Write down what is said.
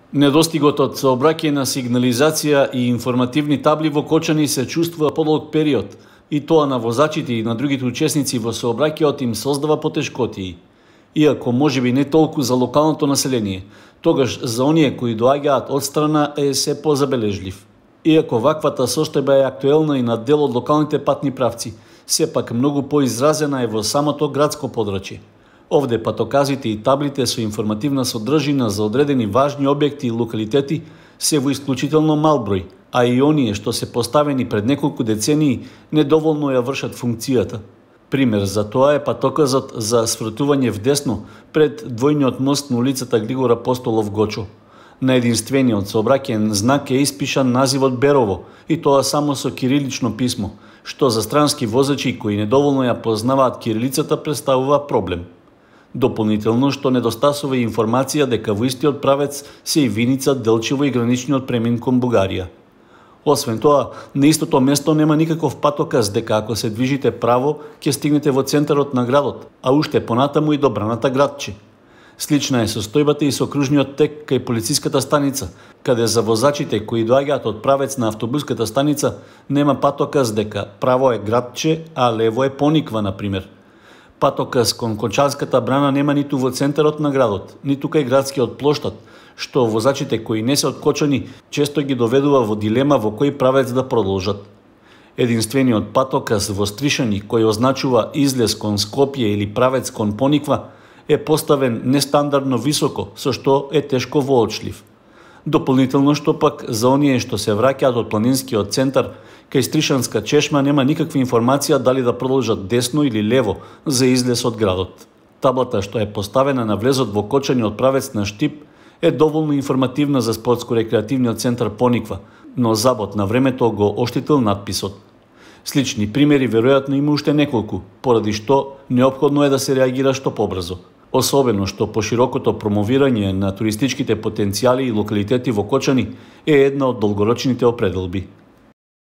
Недостигот од сообраќајна на сигнализација и информативни табли во Кочани се чувствува подолг период, и тоа на возачите и на другите учесници во сообраќајот им создава потешкотии. Иако можеби не толку за локалното население, тогаш за оние кои доаѓаат одстрана е се позабележлив. Иако ваквата состојба е актуелна и на дел од локалните патни правци, сепак многу поизразена е во самото градско подрачје. Овде патоказите и таблите со информативна содржина за одредени важни објекти и локалитети се во исклучително мал број, а и оние што се поставени пред неколку децении недоволно ја вршат функцијата. Пример за тоа е патоказот за свртување вдесно пред двојниот мост на улицата Григор Апостолов Гочо. На единствениот сообраќајен знак е испишан називот Берово, и тоа само со кирилично писмо, што за странски возачи кои недоволно ја познаваат кирилицата представува проблем. Дополнително што недостасува информација дека во истиот правец се и Виница, Делчево и граничниот премин кон Бугарија. Освен тоа, на истото место нема никаков патоказ дека ако се движите право, ќе стигнете во центарот на градот, а уште понатаму и до браната Градче. Слична е состојбата и со кружниот тек кај полициската станица, каде за возачите кои доаѓаат од правец на автобуската станица нема патоказ дека право е Градче, а лево е Пониква, например. Патоказ кон Кончанската брана нема ниту во центарот на градот, ниту кај градскиот плоштад, што возачите кои не се од Кочани често ги доведува во дилема во кој правец да продолжат. Единствениот патоказ во Стришани кој означува излез кон Скопје или правец кон Пониква е поставен нестандардно високо, со што е тешко воочлив. Дополнително што пак за оние што се враќаат од планинскиот центар, кај Стришанска чешма нема никаква информација дали да продолжат десно или лево за излез од градот. Таблата што е поставена на влезот во Кочани од правец на Штип е доволно информативна за спортско-рекреативниот центар Пониква, но забот на времето го оштетил надписот. Слични примери веројатно има уште неколку, поради што неопходно е да се реагира што побрзо. Особено што поширокото промовирање на туристичките потенцијали и локалитети во Кочани е една од долгорочните определби.